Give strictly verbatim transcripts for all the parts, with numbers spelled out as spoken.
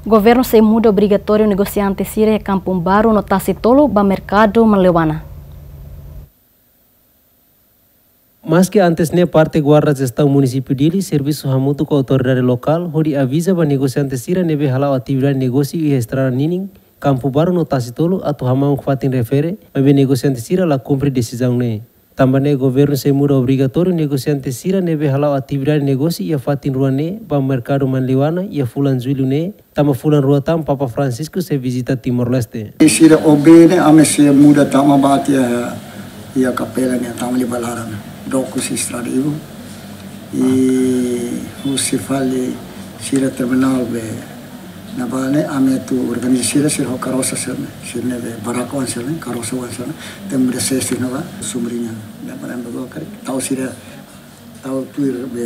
Governu sei muda obrigatóriu negosiante sira iha Kampung Baru no Tasi Tolu ba merkadu Manleuana. Maski antes ne'e parte guarda jestaun munisípiu Dili servisu hamutuk ho autoridade lokál hodi aviza ba negosiante sira ne'ebé hala'o atividade negósiu iha estrada ninin Kampung Baru no Tasi Tolu atu hamamuk fatin refere, maibé negosiante sira la kumpre desizaun ne'e. Tanba ne'e governu sei muda obrigatóriu negosiante sira ne'ebé hala'o atividade negósiu iha fatin rua ne'e ba merkadu Manleuana iha fulan Jullu ne'e, tanba fulan rua tan Papa Francisco sei vizita Timor-Leste. Sira obene ame sei muda tama ba tiha iha kapela ne'e tama liu ba laran. Doku husi estrada ibu. I husi fali sira terminál be ne'ebá ne'e ame atu organiza sira, sira ho karosa sira ne'e. Sira ne'ebé barraca oan sira ne'e, karosa oan sira ne'e. Tenke muda sira ne'ebá, sumbriña. Ne'e para anda go kari. Tau sira, tau tuir be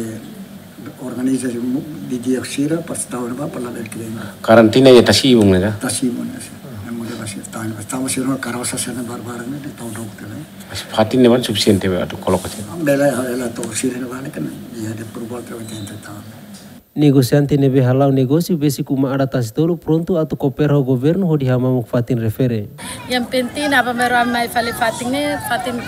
organiza mu-, di dia sira, pas tau ne'ebá, para labele kira. Karantina iha Tasi Ibun ne'e ka? Tasi Ibun ne'e sira. Ne'e muda ba sira tau ne'ebá. Tau sira ne'e karosa sira ne'e barbaran ne'e, tau doku tiha ne'e. Mas fatin ne'ebá sufisiente be atu koloka sira. Bele, ela tau sira ne'ebá ne'e kan, iha de por volta oitenta e tal. Negosiante ne'ebé hala'o negósiu besik uma adat Tasi Tolu prontu atu koopera ho governu hodi hamamuk fatin refere. Yang penting apa meru ami fali fatin ne'e, fatin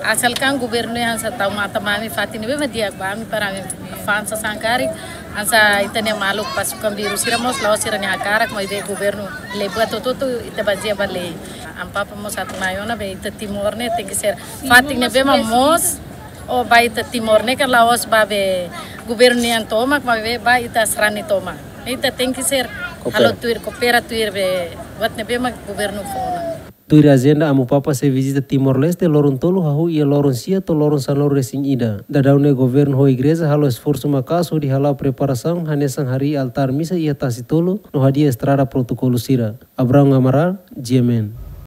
asalkan governu ne'e hanesan tau matan ba ami fatin ne'ebé mak di'ak ba ami para ami fa'an sasán karik, hanesan ita-nia maluk pasukan biru sira mós la'ós sira-nia hakarak maibé governu leba tutu ita bazeia ba lei. Ami Papa mós atu mai ona be ita Timor ne'e tenke ser fatin ne'ebé mak moos, o ba ita Timor ne'e kan la'ós ba be governu nian tomak, maibé ba ita sarani tomak. Ita tenke ser Koopera. Halo tuir, koopera tuir be buat ne'ebé mak governu fó ona. Tuir ajenda Amu Papa sei vizita Timor-Leste loron tolu hahú iha loron sia to'o loron sanulu-resin-ida. Daudaun ne'e governu ho igreja halo esforsu maka'as hodi hala'o preparasaun hanesan harii altár misa iha Tasi Tolu no hadi'a estrada protokolu sira. Abrão Amaral, G M N.